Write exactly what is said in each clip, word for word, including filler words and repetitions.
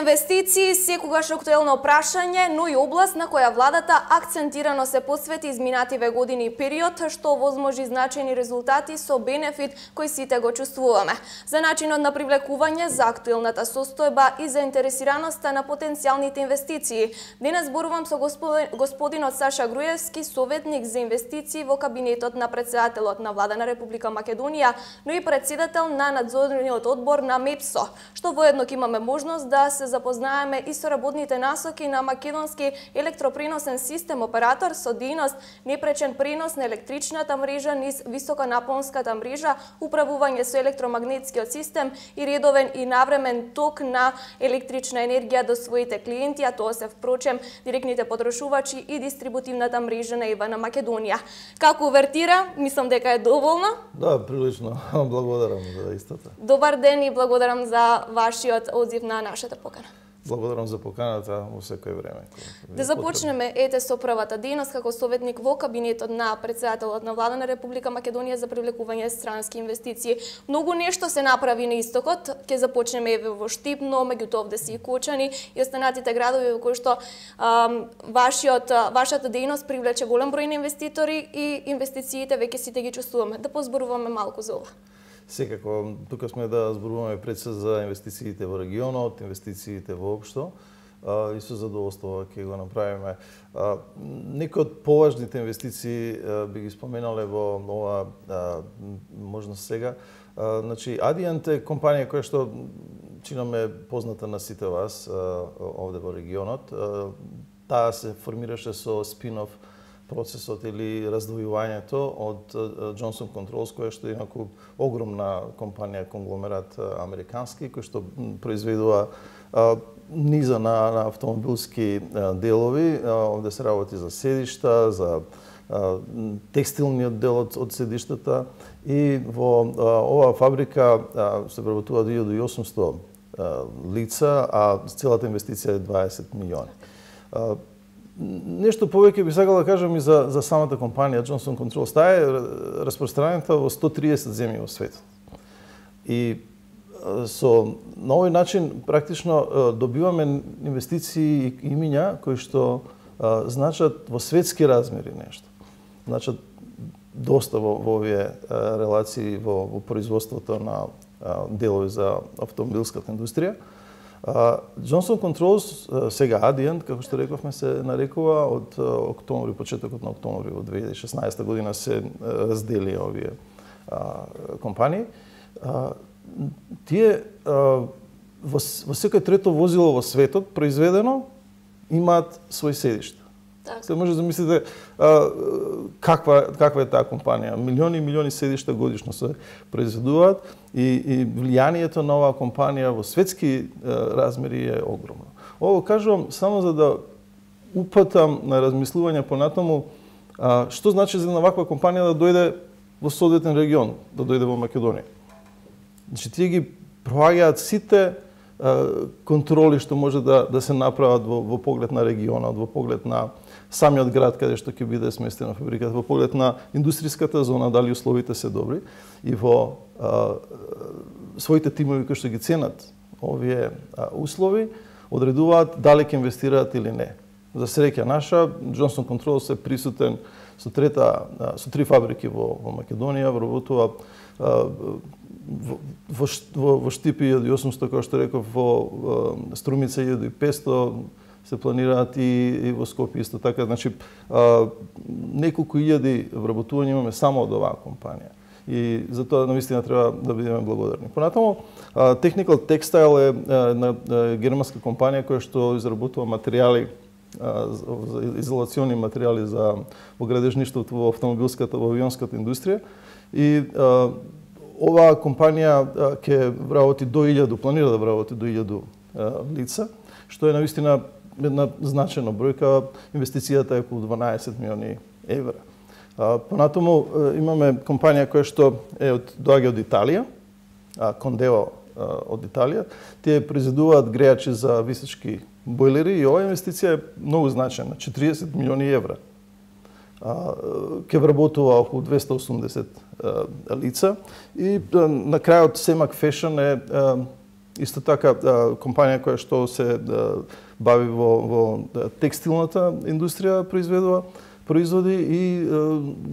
Инвестиции секогаш актуелно прашање, но и област на која владата акцентирано се посвети изминативе години и период, што возможи значајни резултати со бенефит кој сите го чувствуваме. За начинот на привлекување, за актуелната состојба и заинтересираноста на потенцијалните инвестиции. Денес зборувам со господинот Саша Груевски, советник за инвестиции во кабинетот на претседателот на Влада на Република Македонија, но и претседател на надзорниот одбор на МЕПСО, што воедно ќе имаме можност да се запознаеме и со работните насоки на македонски електропреносен систем оператор со дејност непречен пренос на електричната мрежа низ високонапонската мрежа, управување со електромагнетскиот систем и редовен и навремен ток на електрична енергија до своите клиенти, а тоа се впрочем директните потрошувачи и дистрибутивната мрежа на ЕВА на Македонија. Како увертира, мислам дека е доволно. Да, прилично. Благодарам за истата. Добар ден и благодарам за вашиот одзив на нашата покана. Благодарам за поканата во секој време. Да започнеме ете со првата дејност како советник во кабинетот на претседателот на Влада на Република Македонија за привлекување странски инвестиции. Многу нешто се направи на истокот. Ќе започнеме еве во Штипно, меѓутоа овде и Кочани и останатите градови во кои што ам, вашиот вашата дејност привлече голем број на инвеститори и инвестициите веќе сите ги чувствуваме. Да позборуваме малку за ова. Секако, тука сме да зборуваме пред се за инвестициите во регионот, инвестициите воопшто, а, и со задоволство ќе го направиме. А, некои од поважните инвестиции а, би ги споменале во ова а, можност сега. А, значи, Адиент е компанија која што чинаме позната на сите вас а, овде во регионот. А, таа се формираше со спин-оф процесот или раздвојувањето од Johnson Controls, која што е инаку огромна компанија, конгломерат американски, кој што произведува а, низа на, на автомобилски а, делови. А, овде се работи за седишта, за а, текстилниот дел од, од седиштата и во а, оваа фабрика а, се преработува две илјади и осумсто а, лица, а целата инвестиција е дваесет милиони. А, Нешто повеќе би сакал да кажам и за, за самата компанија Johnson Controls. Таа е распространета во сто триесет земји во светот. И со на овој начин практично добиваме инвестиции и имиња кои што а, значат во светски размери нешто. Значат доста во, во овие а, релации во, во производството на а, делови за автомобилската индустрија. Uh, Johnson Controls, uh, сега Adient, како што рековме, се нарекува од uh, октомври, почетокот на октомври во две илјади и шеснаесета година се uh, раздели овие uh, компании. Uh, тие uh, во, во секој трето возило во светот произведено имаат свој седиште. Так. Се може да замислите uh, каква каква е таа компанија. Милиони и милиони седишта годишно се произведуваат и, и влијанието на оваа компанија во светски uh, размери е огромно. Ово кажувам само за да упатам на размислување понатаму uh, што значи за една ваква компанија да дојде во соодветен регион, да дојде во Македонија. Значи тие ги проаѓаат сите uh, контроли што може да да се направат во, во поглед на регионот, во поглед на самиот град каде што ќе биде сместена фабриката, во поглед на индустријската зона, дали условите се добри и во а, своите тимови кои што ги ценат овие а, услови, одредуваат дали ќе инвестираат или не. За среќа наша, Johnson Controls е присутен со трета а, со три фабрики во, во Македонија, вработува а, во, во, во, во Штипи илјади и осумсто, како што реков, во а, Струмица илјади и петсто, се планираат и, и во Скопје исто така. Значи, а, неколку илјади вработувања имаме само од оваа компанија. И за тоа навистина треба да бидеме благодарни. Понатаму, а, Technical Textile е една германска компанија која што изработува материјали, а, изолациони материјали за во градежништвото, во автомобилската, во авионската индустрија. И а, оваа компанија ќе вработи до илјаду, планира да вработи до илјаду лица, што е навистина една значена бројка. Инвестицијата е околу дванаесет милиони евра. Понатаму имаме компанија која што е од доаѓа од Италија, Кондео од Италија. Тие произведуваат грејачи за височки бойлери и оваа инвестиција е многу значена, четириесет милиони евра. Ќе вработува околу двесте и осумдесет лица и на крајот Семак Fashion е исто така компанија која што се бави во, во текстилната индустрија произведува производи и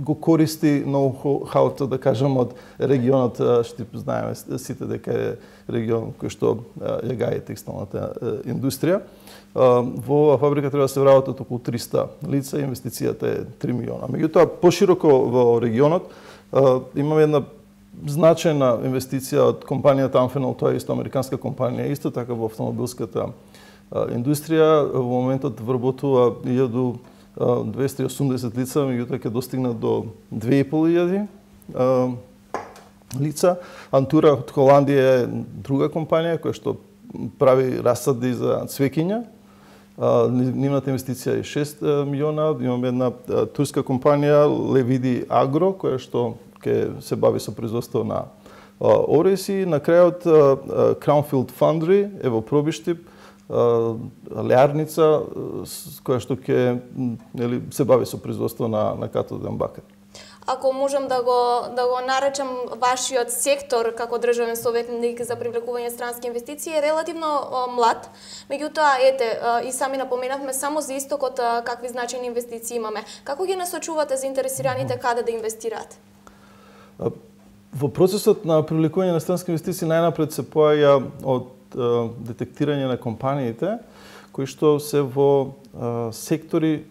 го користи ноу-хауто, да кажам, од регионот, што знаеме сите дека е регион кој што ја гаи текстилната индустрија. Во оваа фабрика треба да се вработат околу триста лица, инвестицијата е три милиона. Меѓутоа, пошироко во регионот имаме една значајна инвестиција од компанијата Amphenol, тоа е исто американска компанија, исто така во автомобилската индустрија. Во моментот вработува илјаду двесте и осумдесет лица, меѓутоа ќе достигнат до две и пол илјади лица. Антура од Холандија е друга компанија која што прави расади за цвеќиња. Нивната инвестиција е шест милиона. Имаме една турска компанија Levidi Agro која што ќе се бави со производство на ореси. На крајот Crownfield Foundry е во Пробиштип, леарница која што ќе, нели, се бави со производство на на катоден бакар. Ако можам да го да го наречам вашиот сектор како државен советник за привлекување странски инвестиции е релативно о, млад. Меѓутоа, ете, и сами напоменавме само за истокот какви значајни инвестиции имаме. Како ги насочувате заинтересираните каде да инвестираат? Во процесот на привлекување на странски инвестиции најнапред се поаѓа од детектирање на компаниите кои што се во а, сектори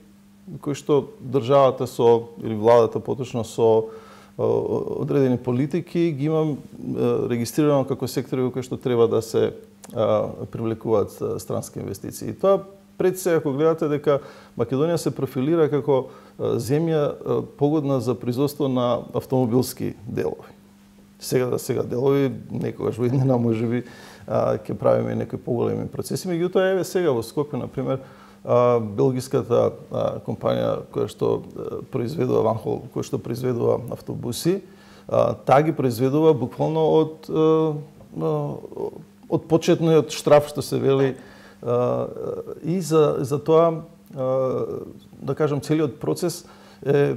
кои што државата со или владата поточно со а, одредени политики ги имам а, регистрирано како сектори во кои што треба да се а, привлекуваат а, странски инвестиции. И тоа пред се ако гледате дека Македонија се профилира како а, земја а, погодна за производство на автомобилски делови. Сега да сега делови некогаш во иднина можеби ќе правиме некои поголеми процеси. Меѓутоа, еве сега во Скопје, например, белгиската компанија која што произведува Ванхол, која што произведува автобуси, таа ги произведува буквално од од почетниот штраф што се вели, и за за тоа, да кажам, целиот процес е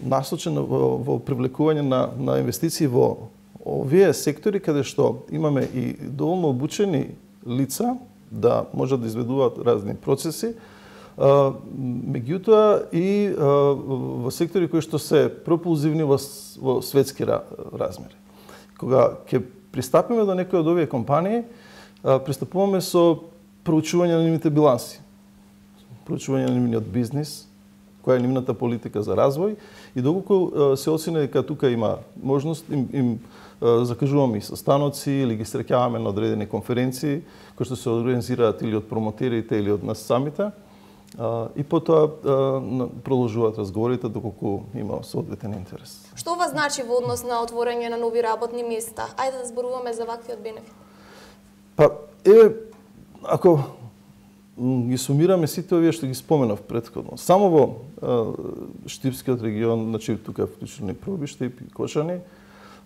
насочен во, во привлекување на на инвестиции во овие сектори каде што имаме и доволно обучени лица да можат да изведуваат разни процеси, меѓутоа и во сектори кои што се пропулзивни во, во светски размери. Кога ќе пристапиме до некои од овие компании, пристапуваме со проучување на нивните биланси, проучување на нивниот бизнис, која е нивната политика за развој и доколку се оцени дека тука има можност, им, им закажуваме и состаноци или ги среќаваме на одредени конференции кои што се организираат или од промотерите или од нас самите, и потоа продолжуваат разговорите доколку има соодветен интерес. Што ова значи во однос на отворање на нови работни места? Ајде да зборуваме за ваквиот бенефит. Па, е, ако ги сумираме сите овие што ги споменав претходно, само во а, Штипскиот регион, значи тука вклучени Пробиштип и Кочани,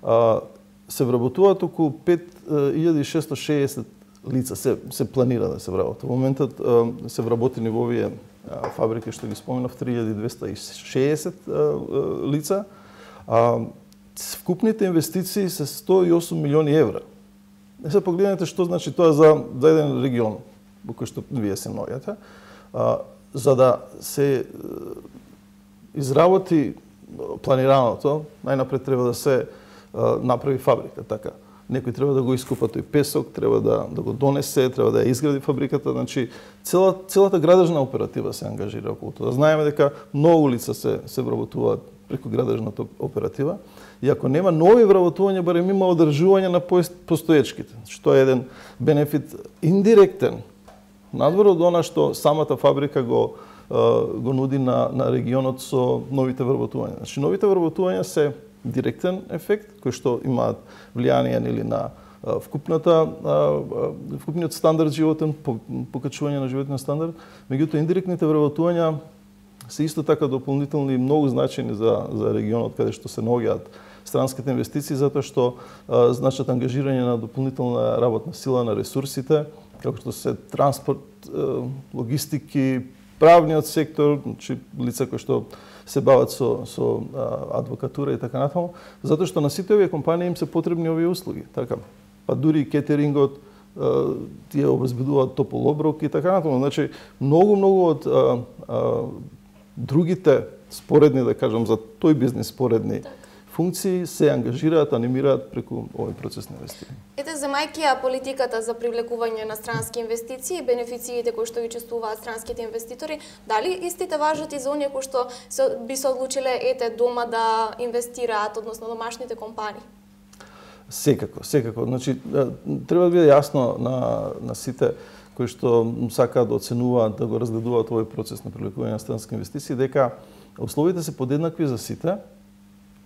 а, се вработуваат околу пет илјади и шесто шеесет лица, се, се планира да се вработат. Во моментот а, се вработени во овие а, фабрики што ги споменав три илјади двесте и шеесет а, лица. А, вкупните инвестиции се сто и осум милиони евра. Не се погледнете што значи тоа за, за еден регион во кој што вие се наоѓате, за да се изработи планираното, најнапред треба да се а, направи фабрика, така. Некој треба да го искупа тој песок, треба да, да го донесе, треба да ја изгради фабриката, значи цела, целата градежна оператива се ангажира околу тоа. Знаеме дека многу лица се, се вработуваат преку градежната оператива, и ако нема нови вработувања, барем има одржување на постоечките, што е еден бенефит индиректен, надвор од она што самата фабрика го, го нуди на, на регионот со новите вработувања. Значи, новите вработувања се директен ефект, кој што имаат влијание или на вкупната, вкупниот стандард животен, покачување на животен стандард, меѓутоа индиректните вработувања се исто така дополнителни и многу значајни за, за регионот каде што се наоѓаат странските инвестиции, затоа што а, значат ангажирање на дополнителна работна сила на ресурсите, како што се транспорт, а, логистики, правниот сектор, значи лица кои што се бават со, со а, адвокатура и така натаму, затоа што на сите овие компании им се потребни овие услуги. Така, па дури и кетерингот, тие обезбедуваат топол оброк и така натаму. Значи, многу, многу од а, а, другите споредни, да кажам, за тој бизнес споредни так. функции се ангажираат, анимираат преку овој процес на инвестирање. Ете, земајќи ја политиката за привлекување на странски инвестиции, бенефициите кои што ги чувствуваат странските инвеститори, дали истите важат и за оние кои што би се одлучиле ете дома да инвестираат, односно домашните компании? Секако, секако. Значи, треба да биде јасно на, на сите кои што сакаат да оценуваат, да го разгледуваат овој процес на привлекување на странски инвестиции, дека условите се подеднакви за сите.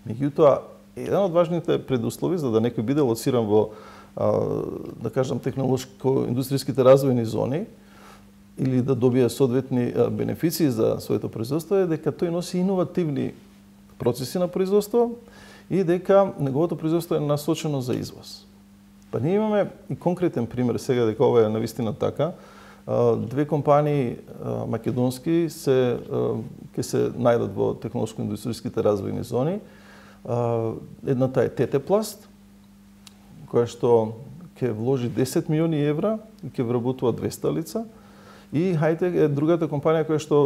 Меѓутоа, еден од важните предуслови за да некој биде лоциран во, да кажам, технолошко-индустријските развојни зони или да добие соодветни бенефиции за своето производство е дека тој носи иновативни процеси на производство и дека неговото производство е насочено за извоз. Па ние имаме и конкретен пример сега дека ова е навистина така. Две компании македонски се ќе се најдат во технолошко-индустријските развојни зони. Едната е Тетепласт, која што ќе вложи десет милиони евра и ќе вработува двесте лица. И Хайтек е другата компанија која што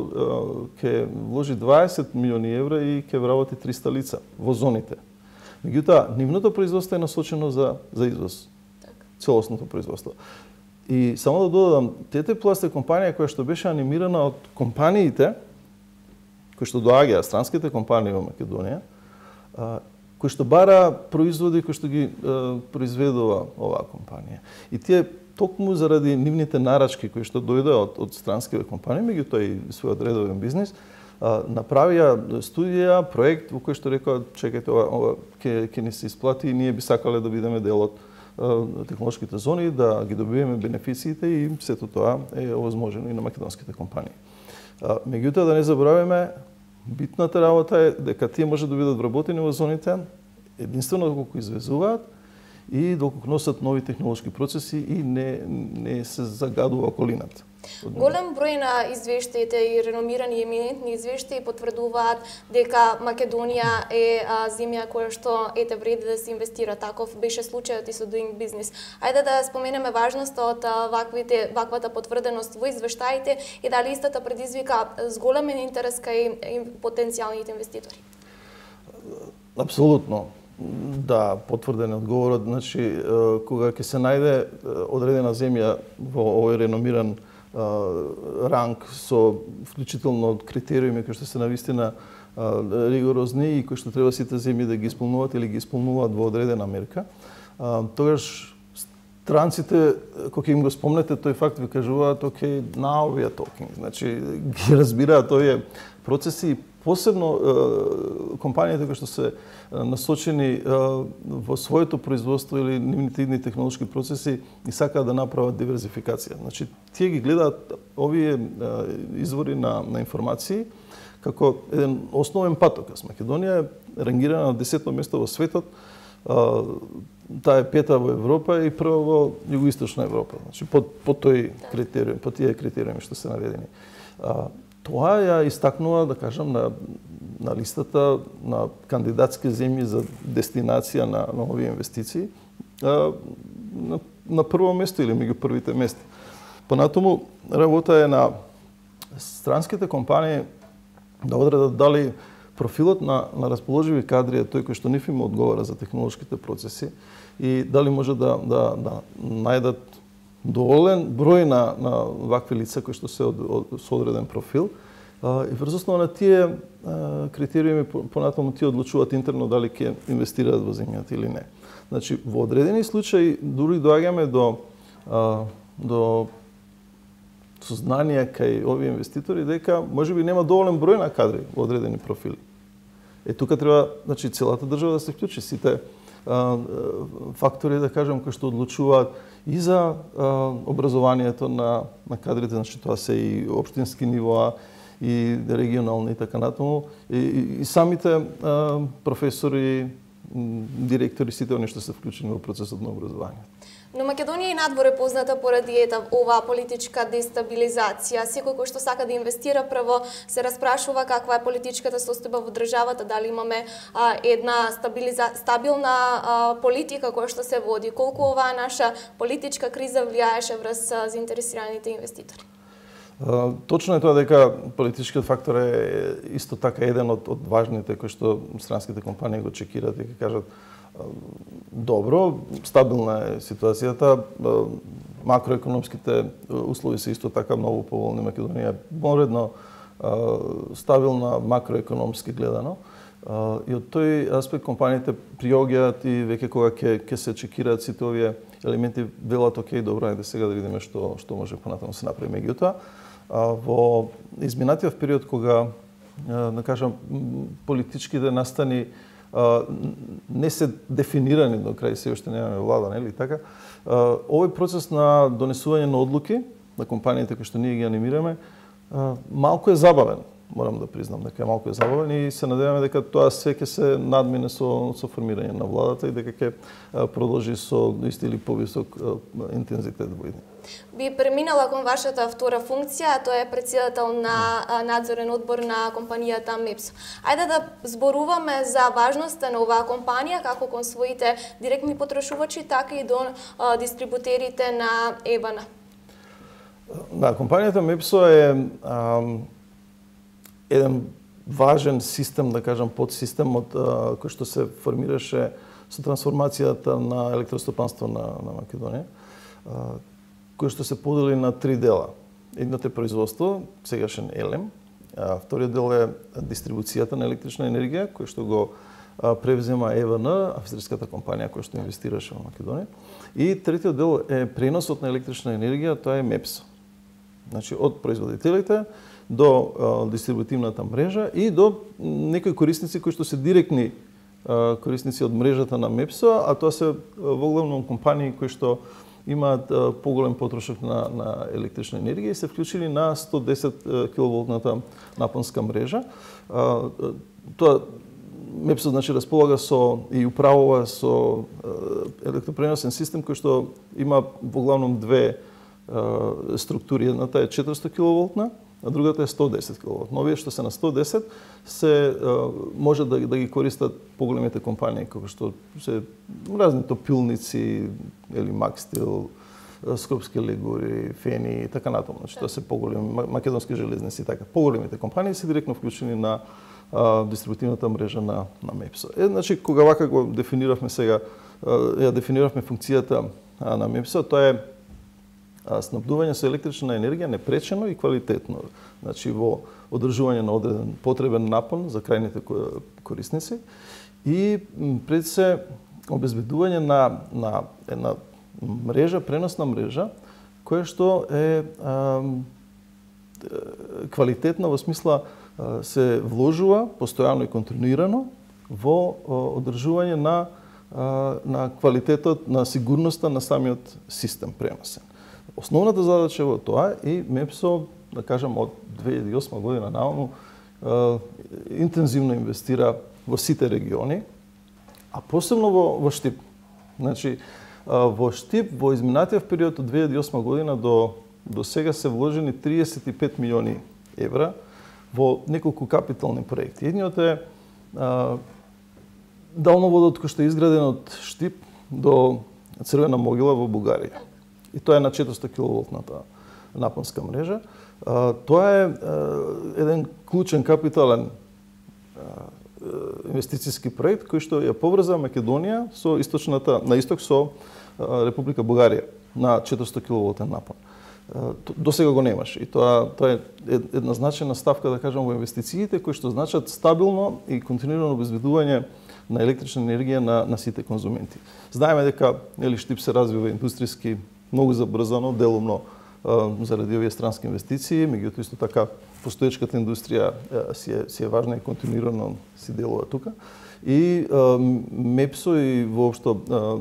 ќе вложи дваесет милиони евра и ќе вработи триста лица во зоните. Меѓутоа, нивното производство е насочено за, за извоз. Целосното производство. И само да додадам, Тетепласт е компанија која што беше анимирана од компаниите кои што доаѓаат, странските компании во Македонија, кои што бара производи кои што ги произведува оваа компанија. И тие токму заради нивните нарачки кои што дојдоа од, од странските компании, меѓутоа и својот редовен бизнис, направија студија, проект во кој што рекоа, чекајте, ова, ова ќе ќе ни се исплати и ние би сакале да бидеме дел од технолошките зони, да ги добиеме бенефициите и сето тоа е овозможено и на македонските компании. Меѓутоа, да не забораваме, битната работа е дека тие може да бидат вработени во зоните единствено доколку извезуваат и доколку носат нови технолошки процеси и не, не се загадува околината. Голем број на извештаите и реномирани еминентни извештаи потврдуваат дека Македонија е а, земја која што ете вреди да се инвестира. Таков беше случајот и со Doing Business. Ајде да споменеме важноста од ваквите ваквата потврденост во извештаите и дали истата предизвика зголемен интерес кај потенцијалните инвеститори. Апсолутно. Да, потврден е одговорот. Значи, кога ќе се најде одредена земја во овој реномиран ранг со вклучително од критериуми кои што се навистина ригорозни и кои што треба сите земји да ги исполнуваат или ги исполнуваат во одредена мерка, тогаш странците, кога им го спомнете тој факт, ви кажуваат, okay, now we are talking. Значи, ги разбираат овие процеси, посебно компаниите кои што се насочени во своето производство или нивните идни технолошки процеси и сакаат да направат диверзификација. Значи, тие ги гледаат овие извори на, на информации како еден основен патокас. Македонија е рангирана на десетто место во светот, таа е пета во Европа и прва во југоисточна Европа. Значи, по, по тој критериум, по тие критериуми што се наведени. Тоа ја истакнува, да кажам, на, на листата на кандидатски земји за дестинација на, на овие инвестиции а, на, на прво место или меѓу првите места. Понатаму, работа е на странските компании да одредат дали профилот на, на расположиви кадри е тој кој што нив им одговара за технолошките процеси и дали може да, да, да најдат доволен број на, на вакви лица кои што се од, од, со одреден профил а, и врз основа на тие а, критериуми понатаму тие одлучуваат интерно дали ќе инвестираат во земјата или не. Значи, во одредени случаи дури доаѓаме до а, до сознание кај овие инвеститори дека можеби нема доволен број на кадри во одредени профили. Е тука треба, значи, целата држава да се вклучи, сите а, фактори, да кажем, кои што одлучуваат и за а, образованието на, на кадрите, значи тоа се и општински нивоа, и регионални и така натаму, и, и, и самите а, професори, директори, сите оние што се вклучени во процесот на образование. Но Македонија и надвор е позната поради ета оваа политичка дестабилизација. Секој кој што сака да инвестира прво се распрашува каква е политичката состојба во државата, дали имаме а, една стабилиза... стабилна а, политика која што се води. Колку оваа наша политичка криза влијаеше врз а, заинтересираните инвеститори? А, точно е тоа дека политичкиот фактор е исто така еден од, од важните кои што странските компании го чекираат и ќе кажат добро, стабилна е ситуацијата, макроекономските услови се исто така многу поволни. Македонија е поредно стабилна макроекономски гледано. И од тој аспект компаниите приоѓаат и веќе кога ќе ќе се чекираат сите овие елементи, велат окей, добро, ајде сега да видиме што што може понатаму се направи. Меѓутоа, во изминатиот период кога да кажам политичките настани не се дефинирани до крај, се уште немаме влада, нели така? Овој процес на донесување на одлуки на компаниите кои што ние ги анимираме малку е забавен, морам да признам дека е малку е забавен и се надеваме дека тоа све ќе се надмине со со формирање на владата и дека ќе продолжи со исти или повисок интензитет во иднина. Би преминала кон вашата втора функција, а тоа е претседател на надзорен одбор на компанијата МЕПСО. Ајде да зборуваме за важноста на оваа компанија како кон своите директни потрошувачи, така и до а, дистрибутерите на ЕБАНА. Да, компанијата МЕПСО е а, еден важен систем, да кажам, подсистем од а, кој што се формираше со трансформацијата на електростопанство на, на Македонија, а, кој што се подели на три дела. Едното е производство, сегашен ЕЛЕМ, а вториот дел е дистрибуцијата на електрична енергија, кој што го а, превзема ЕВН, австриската компанија која што инвестираше во Македонија. И третиот дел е преносот на електрична енергија, тоа е МЕПСО. Значи, од производителите до а, дистрибутивната мрежа и до некои корисници кои што се директни а, корисници од мрежата на МЕПСО, а тоа се воглавно компании кои што имаат а, поголем потрошок на, на електрична енергија и се вклучили на сто десет киловолтната напонска мрежа. А, тоа МЕПСО значи располага со и управува со електропреносен систем кој што има воглавном две а, структури. Едната е четиристо киловолтна, а другата е сто десет киловолтна. Овие што се на сто десет се а, може да, да ги користат поголемите компании како што се разни топилници или Макстил, Скопски легури, Фени и така натаму. Значи тоа се поголеми македонски железници и така. Поголемите компании се директно вклучени на а, дистрибутивната мрежа на на МЕПСО. Е, значи кога вака го дефиниравме сега, а, ја дефиниравме функцијата а, на МЕПСО, тоа е снабдување со електрична енергија непречено и квалитетно. Значи во одржување на одреден потребен напон за крајните корисници и пред се обезбедување на на една мрежа, преносна мрежа која што е а, квалитетна во смисла а, се вложува постојано и континуирано во одржување на а, на квалитетот, на сигурноста на самиот систем преносен. Основната задача во тоа и МЕПСО, да кажам, од две илјади и осма година наваму интензивно инвестира во сите региони, а посебно во, во Штип. Значи, во Штип, во изминатиот период од две илјади и осма година до, до сега се вложени триесет и пет милиони евра во неколку капитални проекти. Едниот е а, далноводот кој што е изграден од Штип до Црвена могила во Бугарија. И тоа е на четиристо киловолтната напонска мрежа. А, тоа е а, еден клучен капитален а, инвестициски проект кој што ја поврза Македонија со источната на исток со а, Република Бугарија на четиристо киловолтен напон. А, до сега го немаш и тоа тоа е една значајна ставка, да кажам, во инвестициите кои што значат стабилно и континуирано обезбедување на електрична енергија на на сите конзументи. Знаеме дека нели Штип се развива индустријски многу забрзано, делумно заради овие странски инвестиции, меѓутоа исто така постоечката индустрија си е, си е важна и континуирано си делува тука. И МЕПСО и воопшто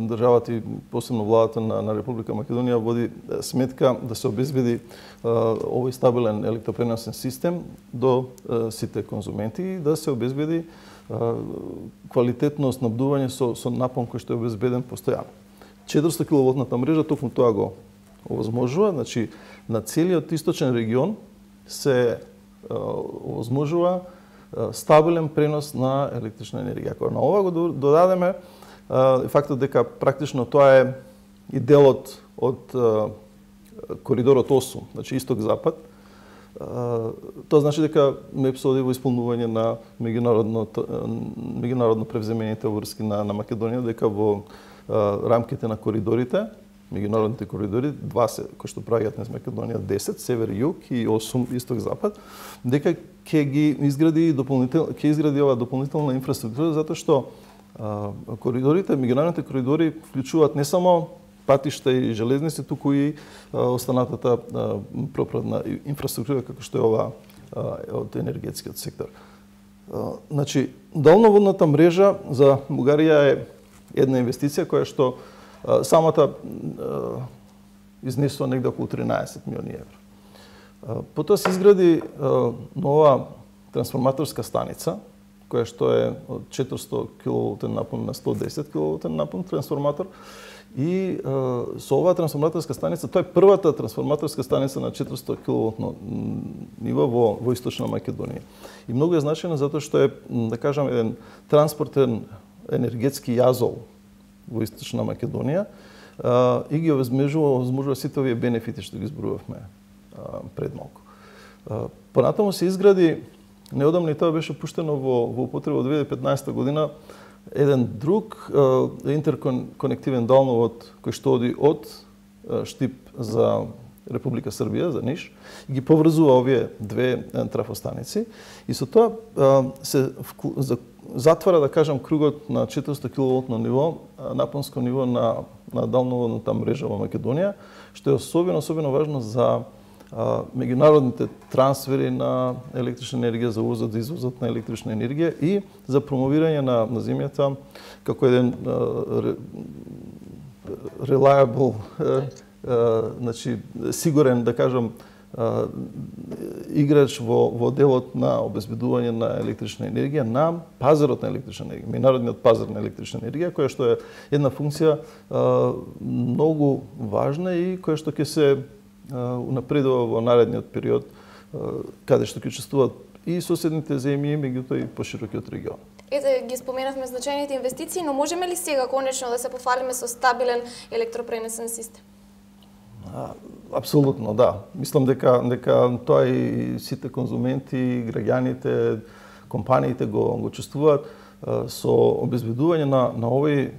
државата и посебно владата на, на Република Македонија води сметка да се обезбеди овој стабилен електропреносен систем до сите конзументи и да се обезбеди квалитетно снабдување со, со напон кој што е обезбеден постојано. четиристо киловолтната мрежа токму тоа го овозможува, значи на целиот источен регион се овозможува стабилен пренос на електрична енергија. Ако на ова го додадеме фактот дека практично тоа е и делот од коридорот осум, значи исток-запад, тоа значи дека МЕПС оди во исполнување на меѓународно меѓународно превземените обврски на, на Македонија, дека во рамките на коридорите, меѓународните коридори, два се кои што праќаат низ Македонија, десет север-југ и осум исток-запад, дека ќе ги изгради дополнително ќе изгради ова дополнителна инфраструктура, затоа што а, коридорите, меѓународните коридори вклучуваат не само патишта и железници, туку и а, останатата а, пропратна инфраструктура како што е ова а, од енергетскиот сектор. А, значи, долноводната мрежа за Бугарија е една инвестиција која што а, самата а, изнесува негде околу тринаесет милиони евра. А, потоа се изгради а, нова трансформаторска станица, која што е од четиристо киловолтен напон на сто десет киловолтен напон трансформатор. И а, со оваа трансформаторска станица, тоа е првата трансформаторска станица на четиристо киловолтно ниво во, во Источна Македонија. И многу е значајно затоа што е, да кажам, еден транспортен енергетски јазол во Источна Македонија а, и ги овозможува, овозможува сите овие бенефити што ги избројавме пред малку. А, понатаму се изгради, неодамно и тоа беше пуштено во, во употреба во две илјади и петнаесета година, еден друг uh, интерконективен далновод кој што оди од uh, Штип за Република Србија, за Ниш, и ги поврзува овие две трафостаници. И со тоа uh, се вклу... за... затвара, да кажам, кругот на четиристо киловолтно ниво, напонско ниво на, на далноводната мрежа во Македонија, што е особено, особено важно за Uh, меѓународните трансфери на електрична енергија, за увозот и извозот на електрична енергија и за промовирање на, на земјата како еден uh, reliable, uh, uh, значи сигурен, да кажам, uh, играч во, во делот на обезбедување на електрична енергија на пазарот на електрична енергија, меѓународниот пазар на електрична енергија, која што е една функција uh, многу важна и која што ќе се унапредува во наредниот период, каде што ќе учествуваат и соседните земји, меѓутоа и поширокиот регион. Ете, ги споменавме значајните инвестиции, но можеме ли сега конечно да се пофалиме со стабилен електропренесен систем? А, апсолутно, да. Мислам дека дека тоа и сите конзументи, граѓаните, компаниите го го чувствуваат со обезбедување на на овој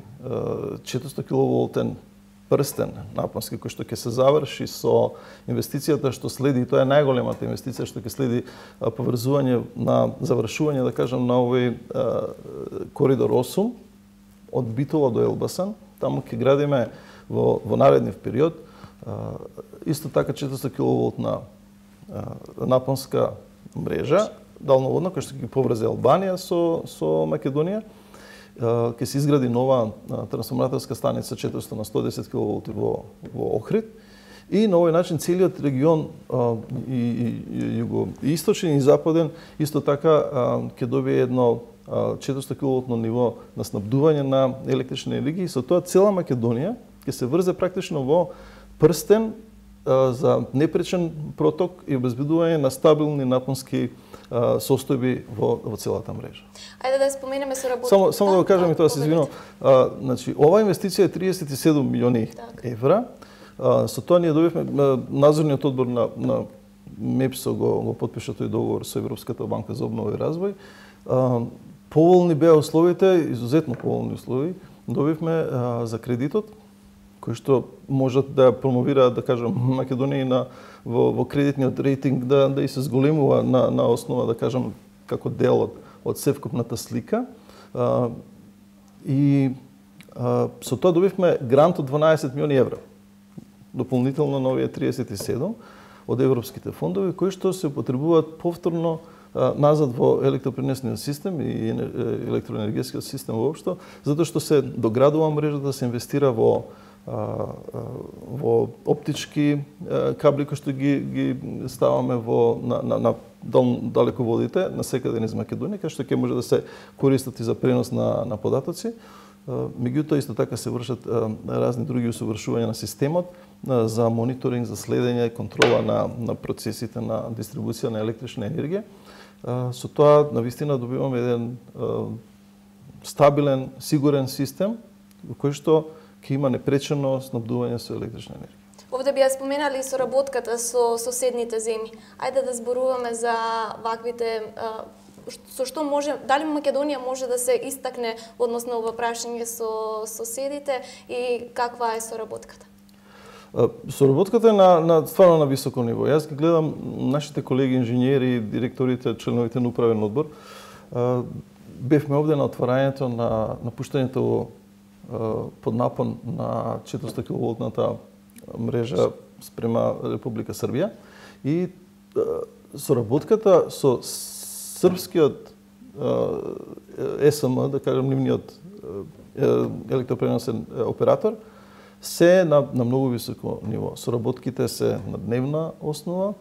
четиристо киловолтен прстен напонски кој што ќе се заврши со инвестицијата што следи, и тоа е најголемата инвестиција што ќе следи поврзување на завршување, да кажам, на овој коридор осум од Битола до Елбасан. Таму ќе градиме во во наредниот период исто така четиристо киловолтна напонска мрежа далноводна која што ќе поврзе Албанија со со Македонија. Ќе се изгради нова трансформаторска станица четиристо на сто десет киловолти во, во Охрид и на овој начин целиот регион а, и, и, и југоисточен и западен исто така а, ќе добие едно а, четиристо киловолтно ниво на снабдување на електрична енергија и со тоа цела Македонија ќе се врзе практично во прстен а, за непречен проток и обезбедување на стабилни напонски состојби во, во целата мрежа. Ајде да споменеме со работите. Само, само да го кажам и тоа, се извинувам. Значи, оваа инвестиција е триесет и седум милиони так. евра. А, со тоа ние добивме надзорниот одбор на, на МЕПСО го, го подпиша тој договор со Европската банка за обнова и развој. А, поволни беа условите, изузетно поволни услови. Добивме а, за кредитот, кои што можат да промовираат, да кажам, Македонија на во, во кредитниот рейтинг да да и се зголемува на на основа, да кажам, како дел од, од севкупната слика. А, и а, со тоа добивме грант од дванаесет милиони евра. Дополнително на овие триесет и седум од европските фондови кои што се употребуваат повторно а, назад во електропренесниот систем и електроенергетскиот систем воопшто, затоа што се доградува мрежата, се инвестира во во оптички кабли кои што ги ги ставаме во на на, на дал, далеководите на секаде низ Македонија, кај што ќе може да се користат и за пренос на на податоци. Меѓутоа, исто така се вршат разни други усовршувања на системот за мониторинг, за следење и контрола на, на процесите на дистрибуција на електрична енергија. Со тоа, навистина, добиваме еден стабилен, сигурен систем, во кој што ќе има непречено снабдување со електрична енергија. Овде би ја споменали соработката со соседните земји. Ајде да зборуваме за ваквите со што може, дали Македонија може да се истакне односно ова прашање со соседите и каква е соработката? Соработката е на, на стварно на високо ниво. Јас ги гледам нашите колеги инженери, директорите, членовите на управен одбор. Бевме овде на отварањето на, на пуштањето под напон на четиристо киловолтната мрежа спрема Република Србија и соработката со српскиот Е С М, да кажем, нивниот електропреносен оператор, се на, на многу високо ниво. Соработките се на дневна основа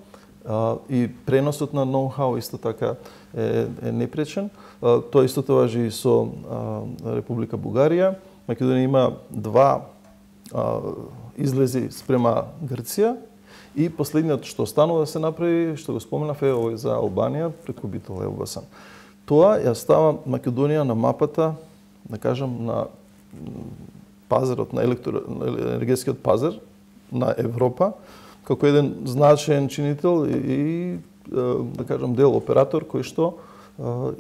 а, и преносот на ноу-хау исто така е, е непречен. А, тоа исто важи и со а, Република Бугарија. Македонија има два а, излези спрема Грција и последниот што останува да се направи, што го споменав, е овој за Албанија преку Битол Елбасан. Тоа ја става Македонија на мапата, да кажам, на пазарот, на електроенергетскиот пазар на Европа, како еден значаен чинител и, да кажам, дел оператор кој што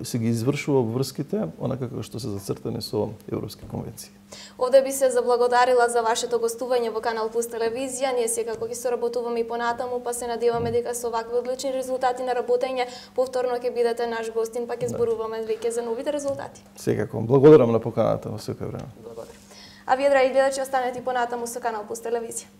се ги извршува врските, онака како што се зацртани со европски конвенции. Овде би се заблагодарила за вашето гостување во Канал Плюс телевизија. Ние секако ќе соработуваме и понатаму, па се надеваме дека со вакви одлични резултати на работење повторно ќе бидете наш гостин, па ќе зборуваме веќе за новите резултати. Секако. Благодарам на поканата во секој време. Благодарам. А вие, драги гледачи, останете и понатаму со Канал Плюс телевизија.